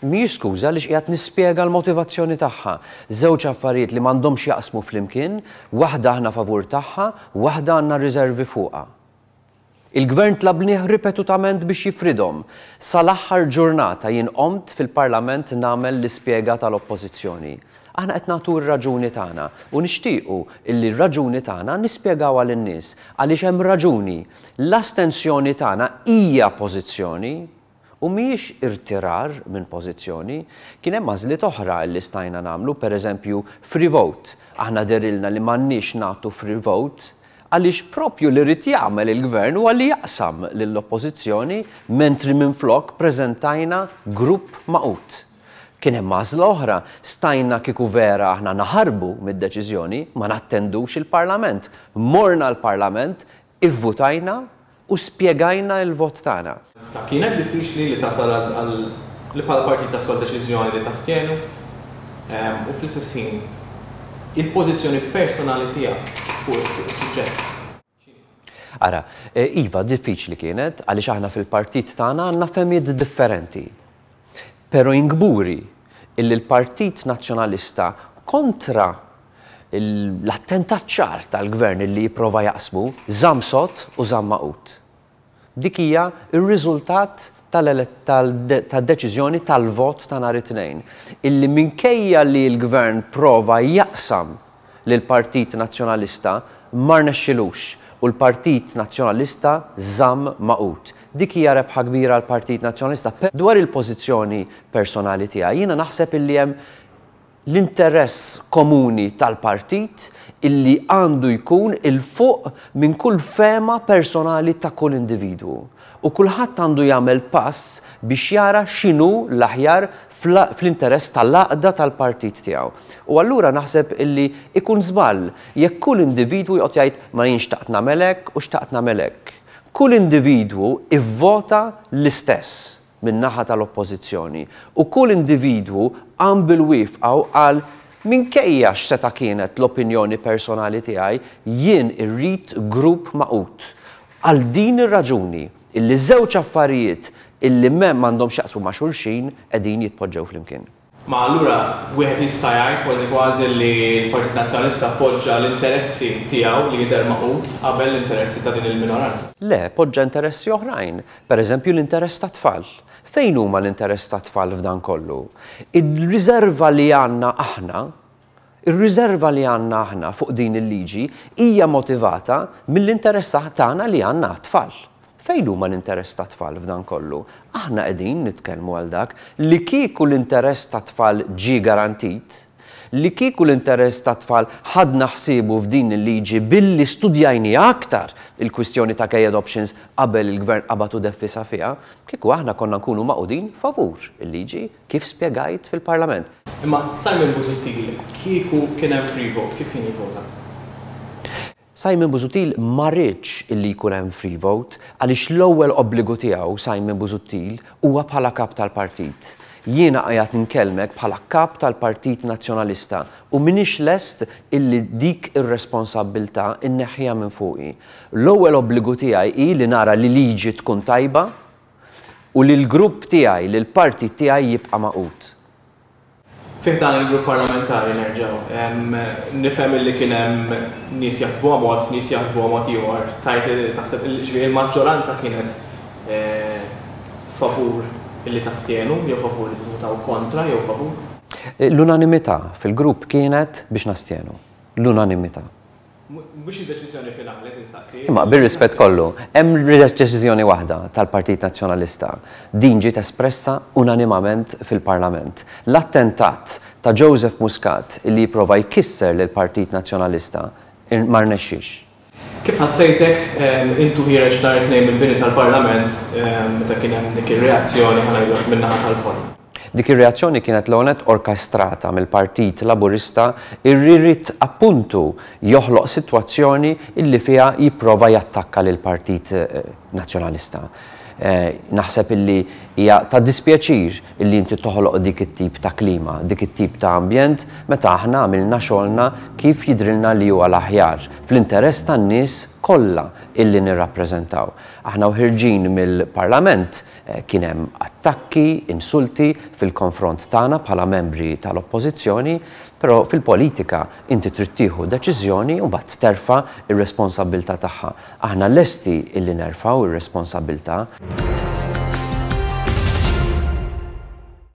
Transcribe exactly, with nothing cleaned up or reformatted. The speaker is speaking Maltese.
Mhijiex skuża li qiegħed nispjega l-motivazzjoni tagħha. Żewġ affarijiet li m'għandhomx jaqsmu flimkien, waħda aħna favur tagħha, waħda għandna riservi fuqha. Il-gvern tlabnieh ripetutament biex jifridhom. Sal-aħħar ġurnata jien qomt fil-Parlament nagħmel l-ispjega tal-Oppożizzjoni. Aħna qed nagħtu r-raġuni tagħna u nixtiequ illi r-raġuni tagħna nispjegawha lin-nies għaliex hemm raġuni. L-astensjoni tagħna hija pożizzjoni u mhijiex irtirar minn pożizzjoni. Kien hemm għażliet oħra li stajna nagħmlu, pereżempju free vote. Aħna dehrilna li m'għandniex nagħtu free vote għaliex propju li rrid jagħmel il-gvern huwa li jaqsam lill-oppożizzjoni, mentri minflok preżentajna grupp magħqud. Kien hemm għażla oħra, stajna kieku vera aħna naħarbu mid-deċiżjoni, ma nattendux il-Parlament. Morna l-Parlament, ivvutajna u spjegajna l-vot tagħna. Issa kienet diffiċli li tasal għal li bħala partit tasal deċiżjoni li tastjenu u fl-istess ħin il-pożizzjoni personali tiegħek fuq is-suġġett? Ara, iva, diffiċli kienet għaliex aħna fil-partit tagħna għandna fehmiet differenti. Però jien kburi illi l-Partit Nazzjonalista kontra l-attentat ċar tal-gvern illi jipprova jaqsmu, żamm sod u żamm magħqud. Dik hija r-riżultat tad-deċiżjoni tal-vot ta' nhar it-Tnejn. Illi minkejja li l-gvern prova jaqsam lill-Partit Nazzjonalista ma rnexxilux u l-Partit Nazzjonalista żamm magħqud. Dik hija rebħa kbira għall-Partit Nazzjonalista. Dwar il-pożizzjoni personali tiegħi, jiena naħseb illi hemm l-interess komuni tal-partit illi għandu jkun il-fuq minn kull fema personali ta' kull individwu. U kulħadd għandu jagħmel pass biex jara x'inhu l-aħjar fl-interess tal-għaqda tal-partit tiegħu. U allura naħseb illi ikun żball jekk kull individwu joqgħod jgħid ma jien xtaqt nagħmel hekk u xtaqt nagħmel hekk. Kull individwu ivvota l-istess min-naħa tal-oppożizzjoni u kull individwu qam bil-wifqa u qal minkejja x'seta' kienet l-opinjoni personali tiegħi, jien irrid grupp magħqud. Għal din ir-raġuni illi żewġ affarijiet illi m'hemm m'għandhomx jaqsmu ma' xulxin qegħdin jitpoġġew flimkien. Ma allura wieħed jista' jgħid kważi kważi li l-Partit Nazzjonalista poġġa l-interessi tiegħu li jidher magħqud qabel l-interessi ta' din il-minoranza. Le, poġġa interessi oħrajn, pereżempju l-interess tat-tfal. Fejn huma l-interess tat-tfal f'dan kollu? Ir-riserva li għandna aħna, ir-riserva li għandna aħna fuq din il-liġi hija motivata mill-interess tagħna li għandna tfal. Fejn huma l-interess tat-tfal f'dan kollu? Aħna qegħdin nitkellmu għal dak li kieku l-interess tat-tfal ġie garantit, li kieku l-interess tat-tfal ħadna ħsiebu f'din il-liġi billi studjajni aktar il-kwistjoni ta' gay adoptions qabel il-gvern qabad u deffisha fiha, kieku aħna konna nkunu magħqudin favur il-liġi kif spjegajt fil-Parlament. Imma Simon Busuttil, kieku kien hemm free vote, kif kien jivvota? Simon Busuttil ma riedx illi jkun hemm free vote għaliex l-ewwel obbligu tiegħu Simon Busuttil huwa bħala kap tal-partit. Jiena qiegħed nkellmek bħala kap tal-Partit Nazzjonalista u m'iniex lest illi dik ir-responsabbiltà inneħħiha minn fuqi. L-ewwel obbligu tiegħi hi li nara li liġi tkun tajba u li l-grupp tiegħi, li l-partit tiegħi jibqa' magħqud. Fih dan il-grupp parlamentari nerġgħu, nifhem li kien hemm nies jaħsbuha mod, nies jaħsbuha mod ieħor. Tajt taħseb ġifieri il-maġġoranza kienet favur illi tastjenu, jew favur li tivvutaw kontra, jew favur? L-unanimità fil-grupp kienet biex nastjenu. L-unanimità. Mhux id-deċiżjoni finali insaqsi. Imma bir-rispett kollu, hemm deċiżjoni waħda tal-Partit Nazzjonalista. Din ġiet espressa unanimament fil-Parlament. L-attentat ta' Joseph Muscat li jipprova jkisser lill-Partit Nazzjonalista ma rnexxiex. Kif ħassejtek intu ħiereġ nhar it-Tnejn mill-bini tal-Parlament meta kien hemm dik ir-reazzjoni ħa ngħidu min-naħa tal-Forum? Dik ir-reazzjoni kienet l-għonet orkestrata mill-Partit Laburista irrid appuntu joħloq sitwazzjoni illi fiha jipprova jattakka lill-Partit Nazzjonalista. Naħseb illi hija ta' dispjaċir illi inti toħloq dik it-tip ta' klima, dik it-tip ta' ambjent meta aħna għamilna xogħolna kif jidrilna li huwa l-aħjar fl-interess tan-nies kollha illi nirrappreżentaw. Aħna uħirġin mill-Parlament Kien hemm attakki, insulti fil-konfront tagħna bħala membri tal-Oppożizzjoni, però fil-politika inti trid tieħu deċiżjoni u mbagħad terfa' ir-responsabbiltà tagħha. Aħna lesti illi nerfgħu ir-responsabbiltà.